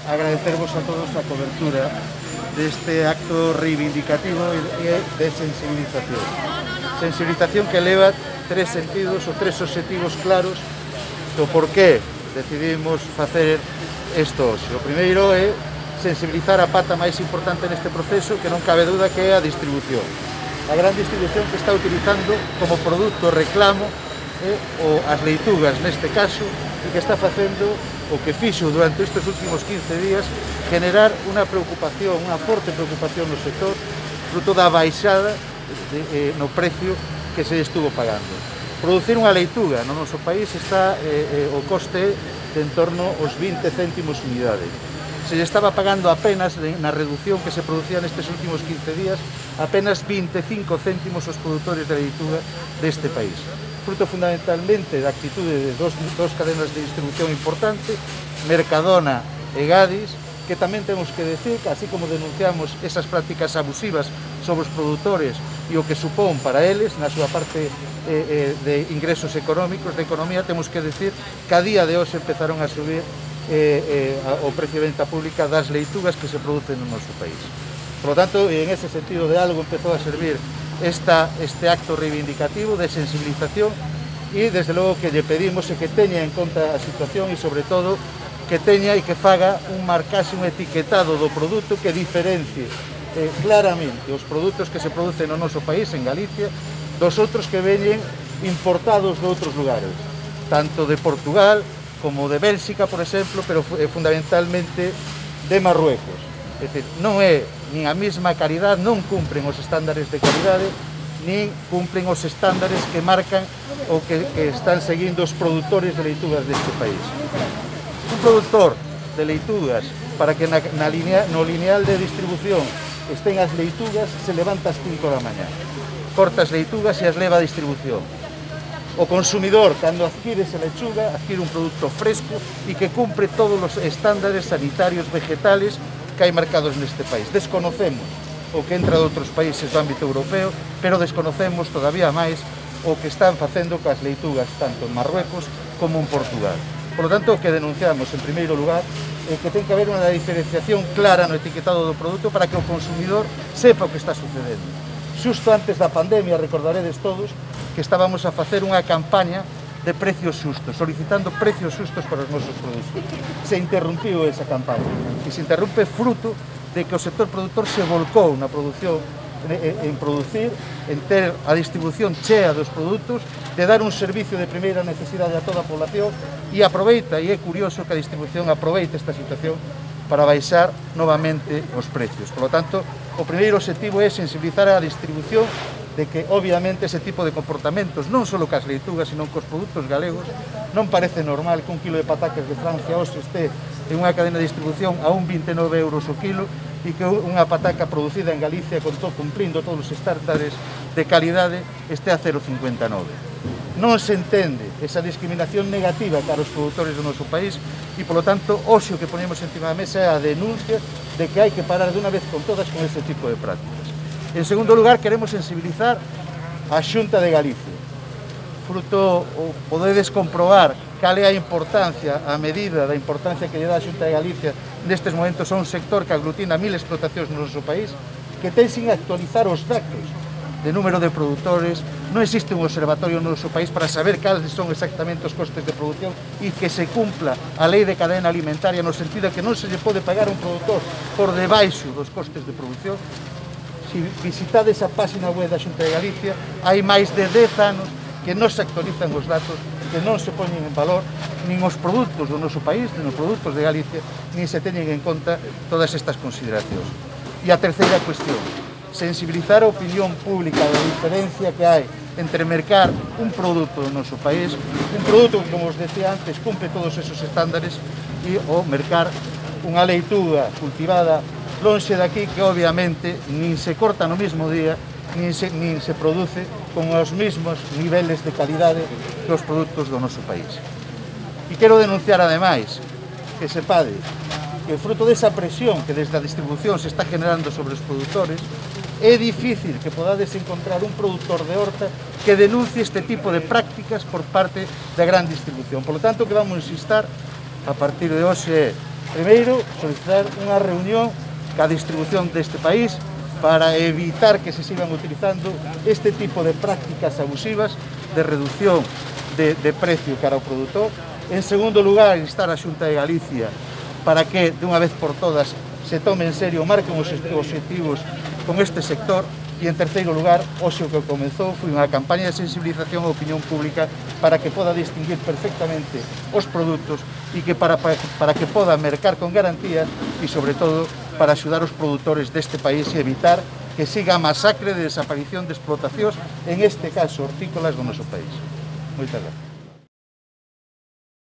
agradecervos a todos a cobertura deste acto reivindicativo e de sensibilización. Sensibilización que leva tres sentidos ou tres obxectivos claros do porqué decidimos facer isto hoxe. O primeiro é sensibilizar a pata máis importante neste proceso, que non cabe duda que é a distribución. A gran distribución que está utilizando como produto reclamo as leitugas neste caso, e que está facendo o que fixo durante estes últimos 15 días generar unha preocupación, unha forte preocupación no sector, fruto da baixada no precio que se estuvo pagando. Producir unha leituga no noso país está o coste de en torno aos 20 céntimos unidade. Se lle estaba pagando apenas na reducción que se producía nestes últimos 15 días apenas 25 céntimos os produtores de leituga deste país. Fruto fundamentalmente da actitude de dos cadenas de distribución importante, Mercadona e Gadis, que tamén temos que decir que, así como denunciamos esas prácticas abusivas sobre os produtores e o que supón para eles, na súa parte de ingresos económicos, de economía, temos que decir que a día de hoxe empezaron a subir o precio de venta pública das leitugas que se producen no noso país. Por lo tanto, en ese sentido, de algo empezou a servir este acto reivindicativo de sensibilización, e desde logo que lle pedimos é que teña en conta a situación e sobre todo que teña e que faga un marcaxe, un etiquetado do produto que diferencie claramente os produtos que se producen no noso país, en Galicia, dos outros que veñen importados de outros lugares, tanto de Portugal como de Bélxica, por exemplo, pero fundamentalmente de Marruecos. É dicir, non é nin a mesma calidade, non cumpren os estándares de calidade, nin cumpren os estándares que marcan ou que están seguindo os produtores de leitugas deste país. Un produtor de leitugas, para que no lineal de distribución estén as leitugas, se levanta ás 5 da mañá, corta as leitugas e as leva a distribución. O consumidor, cando adquire esa lechuga, adquire un produto fresco e que cumpre todos os estándares sanitarios vegetales que hai marcados neste país. Desconocemos o que entra de outros países do ámbito europeo, pero desconocemos todavía máis o que están facendo coas leitugas tanto en Marruecos como en Portugal. Por lo tanto, o que denunciamos, en primeiro lugar, é que ten que haber unha diferenciación clara no etiquetado do produto para que o consumidor sepa o que está sucedendo. Xusto antes da pandemia, recordaredes todos, que estábamos a facer unha campaña de precios xustos, solicitando precios xustos para os nosos produtos. Se interrumpiu esa campaña e se interrumpe fruto de que o sector productor se volcou na produción, en producir, en ter a distribución chea dos produtos, de dar un servicio de primeira necesidade a toda a población, e aproveita, e é curioso que a distribución aproveite esta situación para baixar novamente os precios. Por lo tanto, o primeiro objetivo é sensibilizar a distribución de que, obviamente, ese tipo de comportamentos, non só cas leitugas, sino cos produtos galegos, non parece normal que un kilo de patacas de Francia hoxe este en unha cadena de distribución a 1,29 € o kilo, e que unha pataca producida en Galicia cumprindo todos os estándares de calidade este a 0,59. Non se entende esa discriminación negativa cara aos produtores do noso país e, polo tanto, hoxe o que ponemos encima da mesa é a denuncia de que hai que parar de unha vez con todas con ese tipo de prácticas. En segundo lugar, queremos sensibilizar a Xunta de Galicia. Fruto, podedes comprobar cal é a importancia, a medida da importancia que lle dá a Xunta de Galicia nestes momentos a un sector que aglutina 1000 explotacións no noso país, que ten sin actualizar os datos de número de produtores. Non existe un observatorio no noso país para saber cales son exactamente os costes de produción e que se cumpla a lei de cadena alimentaria no sentido que non se lle pode pagar a un produtor por debaixo dos costes de produción. Se visitades a página web da Xunta de Galicia, hai máis de 10 anos que non se actualizan os datos, que non se poñen en valor nin os produtos do noso país, nin os produtos de Galicia, nin se teñen en conta todas estas consideracións. E a terceira cuestión, sensibilizar a opinión pública da diferencia que hai entre mercar un produto do noso país, un produto que, como os decía antes, cumpre todos esos estándares, e o mercar unha leituga cultivada lonxe daqui, que obviamente nin se corta no mesmo día, nin se produce con os mesmos niveles de calidade que os produtos do noso país. E quero denunciar, ademais, que sepade que fruto desa presión que desde a distribución se está generando sobre os produtores, é difícil que podades encontrar un produtor de horta que denuncie este tipo de prácticas por parte da gran distribución. Por lo tanto, que vamos a insistir a partir de hoxe é Primeiro, solicitar unha reunión ca distribución deste país para evitar que se sigan utilizando este tipo de prácticas abusivas de reducción de precio cara ao produtor. En segundo lugar, instar a Xunta de Galicia para que, de unha vez por todas, se tome en serio, marquen os obxectivos con este sector. E, en terceiro lugar, hoxe o que comezou foi unha campaña de sensibilización á opinión pública para que poda distinguir perfectamente os produtos e que para que poda mercar con garantías e, sobre todo, para axudar os produtores deste país e evitar que siga a masacre de desaparición de explotacións, en este caso hortícolas do noso país. Moitas gracias.